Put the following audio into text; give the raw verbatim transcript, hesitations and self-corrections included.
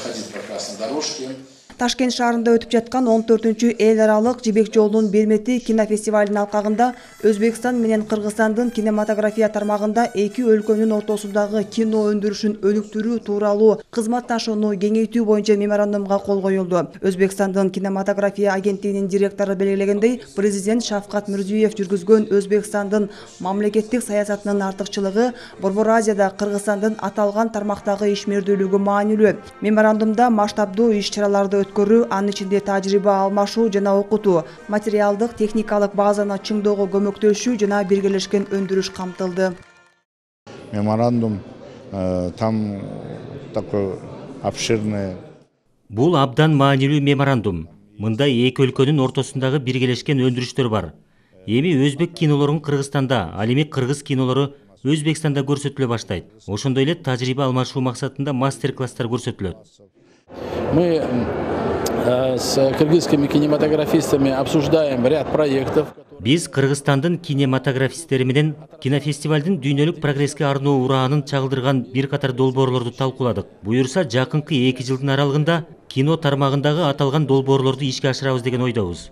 ходить по красной дорожке. Ташкент шаарында өтүп жаткан он төртүнчү эл аралык Жибек жолунун Бермети кинофестивалынын алкагында Өзбекстан менен Кыргызстандын кинематография тармагында эки өлкөнүн ортосундагы кино өндүрүшүн өнүктүрүү тууралуу кызматташууну кеңейтүү боюнча меморандумга кол коюлду. Өзбекстандын кинематография агенттигинин директору белгилегендей, президент Шавкат Мирзиёев жүргүзгөн Өзбекстандын мамлекеттик саясатынын артыкчылыгы Борбор Азияда Кыргызстандын аталган тармактагы ишмердүүлүгү маанилүү. Меморандумда масштабдуу иш-чараларды өткөрүү, анын ичинде тажрыйба алмашуу жана окутуу, материалдык, техникалык базаны чыңдоого көмөктөшүү жана биргелешкен өндүрүш камтылды. Меморандум там такой обширный. Бул абдан маанилүү меморандум. Мында эки өлкөнүн ортосундагы биргелешкен өндүрүштөр бар. Эми өзбек кинолорун Кыргызстанда, ал эми кыргыз кинолору Өзбекстанда көрсөтүлө баштайт. Ошондой эле тажрыйба алмашуу максатында мастер-класстар көрсөтүлөт. Мы с кыргызскими кинематографистами обсуждаем ряд проектов. Биз Кыргызстандын кинематографисттери менен кинофестивалдын дүйнөлүк прогресске арноо ураанын чагылдырган бир катар долбоорлорду талкууладык. Буюрса, жакынкы эки жылдын аралыгында кино тармагындагы аталган долбоорлорду ишке ашырабыз деген ойдобуз.